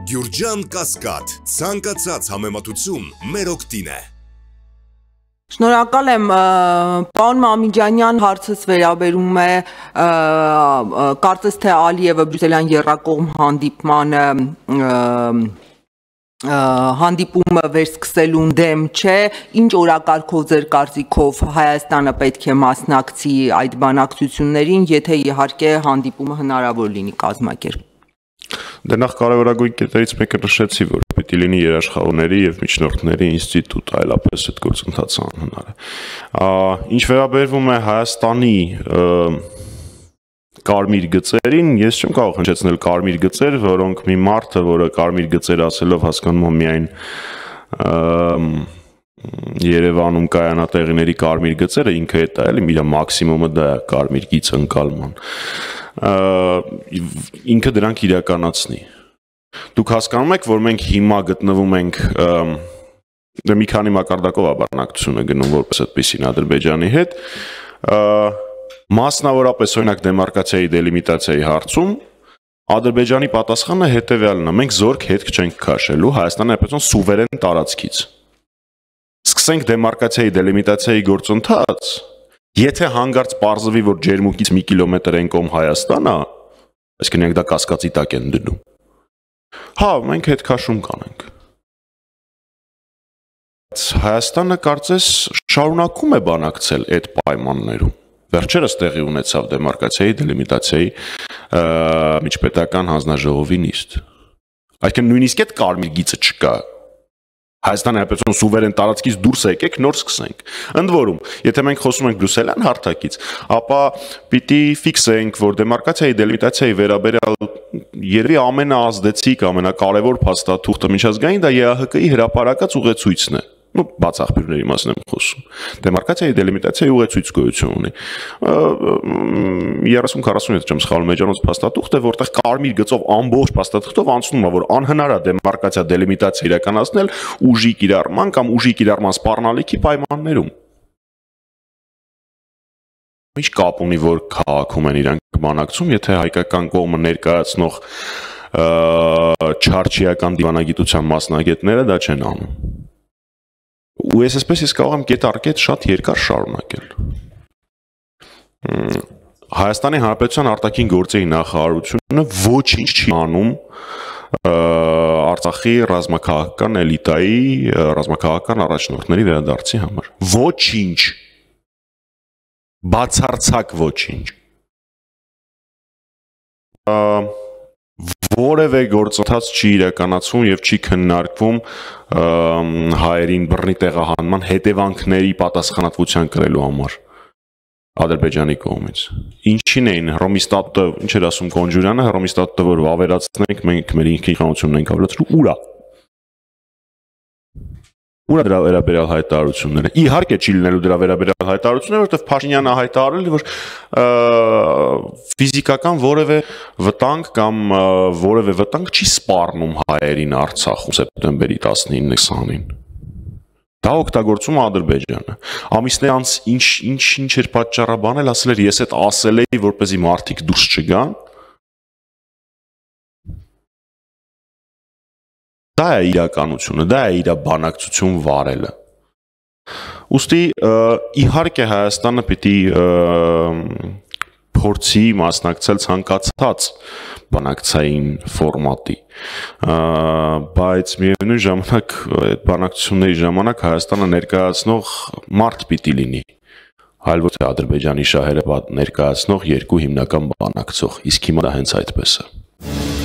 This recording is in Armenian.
Գյուրջան Կասկադ, ցանկացած համեմատություն մեր օգտին է։ Շնորհակալ եմ, պարոն Մամիջանյան, հարցս վերաբերում է կարծես թե Ալիևը բրյուսելյան եռակողմ հանդիպումը վերսկսելուն դեմ չէ, ինչ օրակարգով ձեր կարծիքով Հայաստանը պետք է մասնակցի այդ բանակցություններին, եթե իհարկե հանդիպումը հնարավոր լինի կազմակերպել։ Դե նախ կարևորագույն կետերից մեկը նշեցի, որ պիտի լինի երաշխավորների եւ միջնորդների ինստիտուտ, այլապես այդ գործընթացը անհնար է։ Ինչ վերաբերվում է Հայաստանի կարմիր գծերին, ես չեմ կարող հնչեցնել կարմիր գծեր, որոնք մի մարդը, որը կարմիր գծեր ասելով հասկանում է միայն Երևանում կայանատեղիների կարմիր գծերը, ինքը դա էլի իր մաքսիմումը դա է կարմիր գիծ ընկալման։ Ինքը դրանք իրականացնի։ Դուք հասկանում եք, որ մենք հիմա գտնվում ենք մի քանի մակարդակով բանակցությունը գնում որպես այդպեսին Ադրբեջանի հետ, մասնավորապես օրինակ դեմարկացիայի դելիմիտացիայի հարցում Ադրբեջանի պատասխանը հետևյալն է. մենք զորք հետք չենք քաշելու Հայաստանի Հանրապետության սուվերեն տարածքից։ Սկսենք դեմարկացիայի դելիմիտացիայի գործընթաց, եթե հանգարց պարզվի, որ ջերմուկից մի կիլոմետր են կողմ Հայաստանը, այսինքն իրենք դա կասկածի տակ են դնում։ Հա, մենք հետ քաշում կանենք։ Հայաստանը կարծես շարունակում է բանակցել այդ պայմաններում։ Վերջերս տեղի ունեցավ դեմարկացիայի դելիմիտացիայի միջպետական հանձնաժողովի նիստ։ Այսինքն նույնիսկ այդ կարմիր գիծը չկա։ Հայաստանի Հանրապետության սուվերեն տարածքից դուրս եկեք, նոր սկսենք։ Ընդ որում, եթե մենք խոսում ենք բրյուսելյան հարթակից, ապա պիտի ֆիքսենք, որ դեմարկացիայի դելիմիտացիայի վերաբերյալ երևի ամենաազդեցիկ, ամենակարևոր փաստաթուղթը միջազգային դա ԵԱՀԿ-ի հրապարակած ուղեցույցն է։ Բաց աղբյուրների մասին եմ խոսում։ Դեմարկացիայի դելիմիտացիայի ուղեցույց գոյություն ունի։ 30-40 եթե չեմ սխալվում, էջանոց փաստաթուղթ է, որտեղ կարմիր գծով ամբողջ փաստաթուղթով անցնում է, որ անհնար է դեմարկացիա դելիմիտացիա իրականացնել ուժի կիրառման կամ ուժի կիրառման սպառնալիքի պայմաններում։ Ինչ կապ ունի, որ քաղաքում են իրանք բանակցում, եթե հայկական կողմը ներկայացնող չարչիական դիվանագիտության մասնագետները դա չեն անում։ Ու ես այսպես կարող եմ կետ առ կետ շատ երկար շարունակել։ Հայաստանի Հանրապետության արտաքին գործերի նախարարությունը ոչինչ չի անում Արցախի ռազմաքաղաքական էլիտայի, ռազմաքաղաքական առաջնորդների վերադարձի համար։ Ոչինչ։ Բացարձակ ոչինչ։ Որևէ գործընթաց չի իրականացվում եւ չի քննարկվում հայերին բռնի տեղահանման հետևանքների պատասխանատվության կրելու համար Ադրբեջանի կողմից։ Ինչին էին Հռոմի ստատուտը, ինչ էր ասում Կոնջուրյանը, Հռոմի ստատուտը, որ ավերացնենք, մենք մեր ինքնիշխանությունն ենք ավերացրու, ուրա։ Ուրա դրա վերաբերյալ հայտարարությունները։ Իհարկե չի լինելու դրա վերաբերյալ հայտարարությունները, որովհետև Փաշինյանը հայտարարել է, որ ֆիզիկական որևէ վտանգ կամ որևէ վտանգ չի սպառնում հայերին Արցախում սեպտեմբերի 19-20-ին։ Դա օգտագործում է Ադրբեջանը։ Ամիսներ անց ինչ էր պատճառաբանել, ասել էր ես այդ ասել էի, որպեսզի մարդիկ դուրս չգան։ Դա է իրականությունը, դա է իր բանակցություն վարելը։ Ուստի իհարկե Հայաստանը պիտի փորձի մասնակցել ցանկացած բանակցային ֆորմատի, բայց միևնույն ժամանակ այդ բանակցությունների ժամանակ Հայաստանը ներկայացնող մարդ պիտի լինի, այլ ոչ թե Ադրբեջանի շահերը ներկայացնող երկու հիմնական բանակցող, իսկ հիմա դա հենց այդպես է։